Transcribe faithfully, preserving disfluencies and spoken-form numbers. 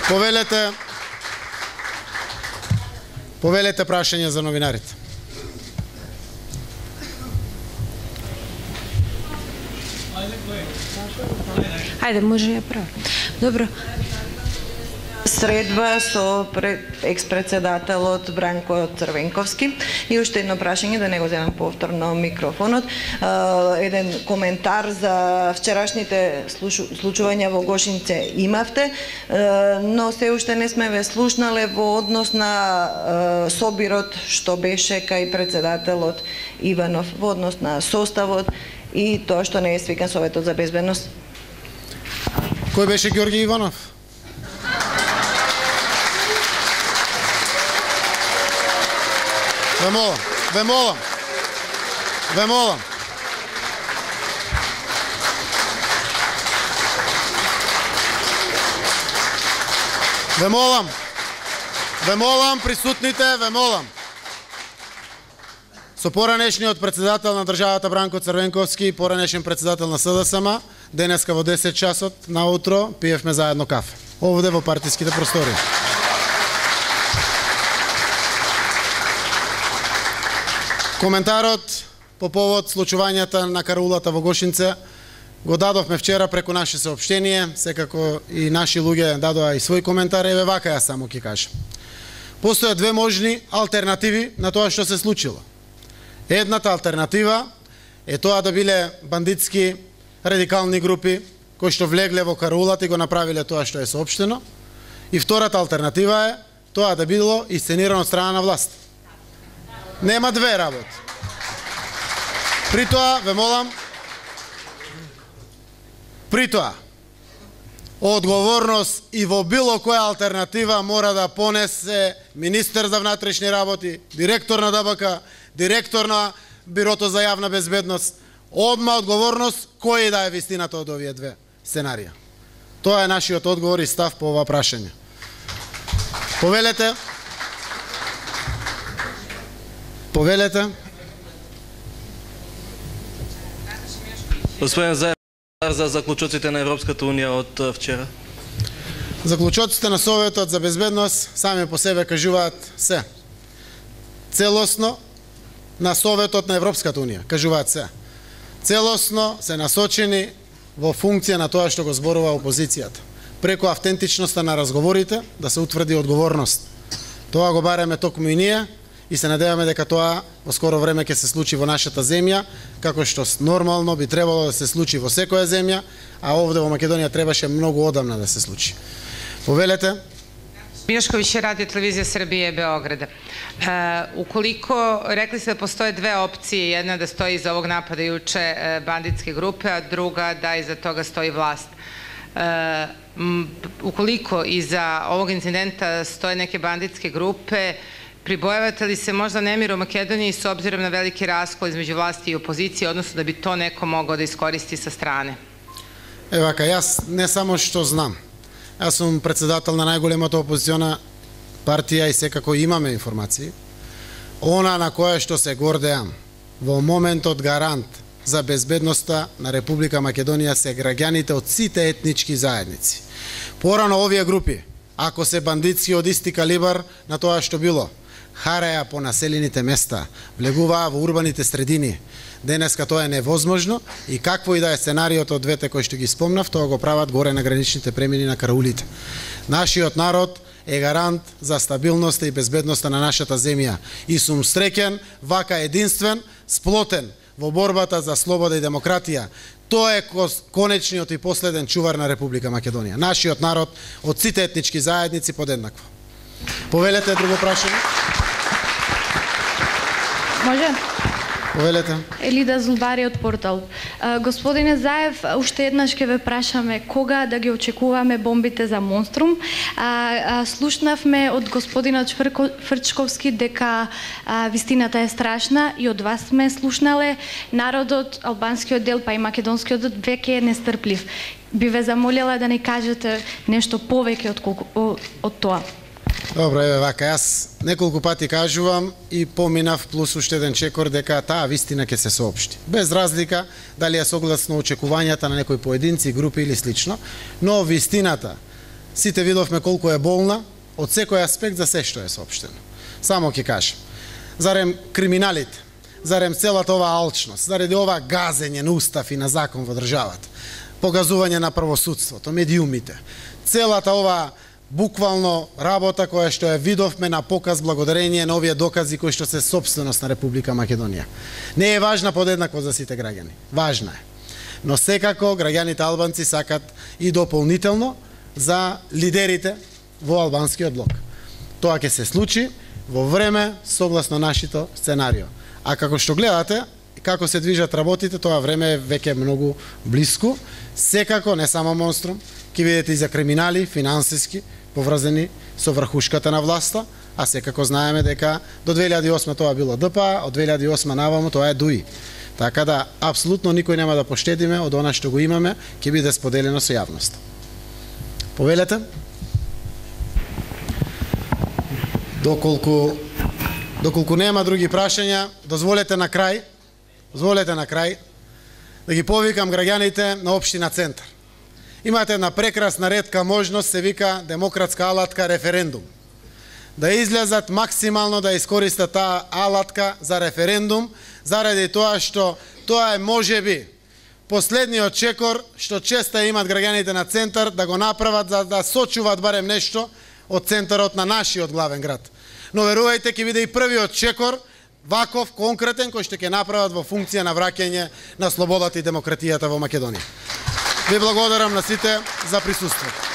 Повелете Повелете прашање за новинарите. Ајде, може ја права. Добро. Средба со екс-председателот Бранко Црвенковски и уште едно прашање, да не го земам повторно микрофонот. Еден коментар за вчерашните случувања во Гошинце имавте, но се уште не сме ве слушнале во однос на собирот што беше кај председателот Иванов, во однос на составот и тоа што не е свикан Советот за безбедност. Кој беше Ѓорѓе Иванов? Ве молам, ве молам, ве молам. Ве молам, ве молам, присутните, ве молам. Со поранешниот председател на државата Бранко Црвенковски и поранешен председател на СДСМ, денеска во десет часот наутро пиевме заедно кафе. Овде во партиските простории. Коментарот по повод случувањата на караулата во Гошинце го дадовме вчера преку наше соопштение, секако и наши луѓе дадоа и свој коментар, еве вака ја само ќе кажам. Постојат две можни алтернативи на тоа што се случило. Едната алтернатива е тоа да биле бандитски радикални групи кои што влегле во караулата и го направиле тоа што е соопштено. И втората алтернатива е тоа да било исценирано од страна на власт. Нема две работи. При тоа, ве молам, при тоа, одговорност и во било која алтернатива мора да понесе министер за внатрешни работи, директор на ДБК, директор на Бирото за јавна безбедност, одма одговорност кој да е вистината од овие две сценарија. Тоа е нашиот одговор и став по ова прашање. Повелете, повелете. Господин Заев, за заклучоците на Европската унија од вчера. Заклучоците на Советот за безбедност сами по себе кажуваат се. Целосно на Советот на Европската унија кажуваат се. Целосно се насочени во функција на тоа што го зборува опозицијата. Преку автентичноста на разговорите да се утврди одговорност. Тоа го бараме токму и ние и се надеваме дека тоа во скоро време ќе се случи во нашата земја, како што нормално би требало да се случи во секоја земја, а овде во Македонија требаше многу одамна да се случи. Повелете. Мијошковиќ, Радио Телевизија Србије, Београд. Уколико, рекли сте да постоje две опции, една да стои iza ovog napada juče banditske grupe, a druga da iza toga stoji vlast. Ukoliko iza ovog incidenta stoje neke banditske grupe, pribojavate li se možda nemir u Makedoniji s obzirom na veliki raskol između vlasti i opozicije, odnosno da bi to neko mogao da iskoristi sa strane? Евака, јас не само што знам. Јас сум председател на најголемата опозициона партија и секако имаме информации. Она на која што се гордеам во моментот гарант за безбедноста на Република Македонија се граѓаните од сите етнички заедници. Порано овие групи, ако се бандитски од исти калибар на тоа што било, хареа по населените места, влегуваа во урбаните средини. Денеска тоа е невозможно и какво и да е сценариото од двете кои што ги спомнав, тоа го прават горе на граничните премини на караулите. Нашиот народ е гарант за стабилноста и безбедноста на нашата земја и сум среќен, вака единствен, сплотен во борбата за слобода и демократија. Тоа е конечниот и последен чувар на Република Македонија. Нашиот народ од сите етнички заедници подеднакво. Повелете друго прашање. Може? Повелете. Елида Зулбари од Портал. Господине Заев, уште еднаш ќе ве прашаме кога да ги очекуваме бомбите за Монструм. А, а, слушнавме од господинот Фрчковски дека а, вистината е страшна и од вас сме слушнале. Народот, албанскиот дел, па и македонскиот веќе е нестрплив. Би ве замолила да ни кажете нешто повеќе од, од, од тоа. Добро, еве вака, јас неколку пати кажувам и поминав плюс уште еден чекор дека таа вистина ќе се соопшти. Без разлика дали е согласно очекувањата на некои поединци, групи или слично, но вистината сите видовме колку е болна од секој аспект за се што е соопштено. Само ќе кажам. Зарем криминалите, зарем целата оваа алчност, заради ова газење на устав и на закон во државата, погазување на правосудството, медиумите, целата ова буквално работа која што ја видовме на показ благодарение на овие докази кои што се собственост на Република Македонија. Не е важна подеднакво за сите граѓани. Важна е. Но секако граѓаните албанци сакат и дополнително за лидерите во албанскиот блок. Тоа ќе се случи во време согласно нашето сценарио. А како што гледате, како се движат работите, тоа време е веќе многу блиску. Секако, не само Монструм, ќе видите и за криминали, финансиски, поврзани со врхушката на власта, а секако знаеме дека до две илјади и осма тоа било Д П А, од две илјади и осма наваму тоа е Д У И. Така да, апсолутно никој нема да поштедиме од она што го имаме, ќе биде споделено со јавноста. Повелете? Доколку доколку нема други прашања, дозволете на крај, дозволете на крај да ги повикам граѓаните на општина Центар. Имате една прекрасна ретка можност, се вика демократска алатка референдум. Да излезат максимално да искористат таа алатка за референдум, заради тоа што тоа е можеби последниот чекор што често имат граѓаните на Центар да го направат за да сочуваат барем нешто од центарот на нашиот главен град. Но верувајте, ќе биде и првиот чекор ваков конкретен кој што ќе направат во функција на враќање на слободата и демократијата во Македонија. Ви благодарам на сите за присуството.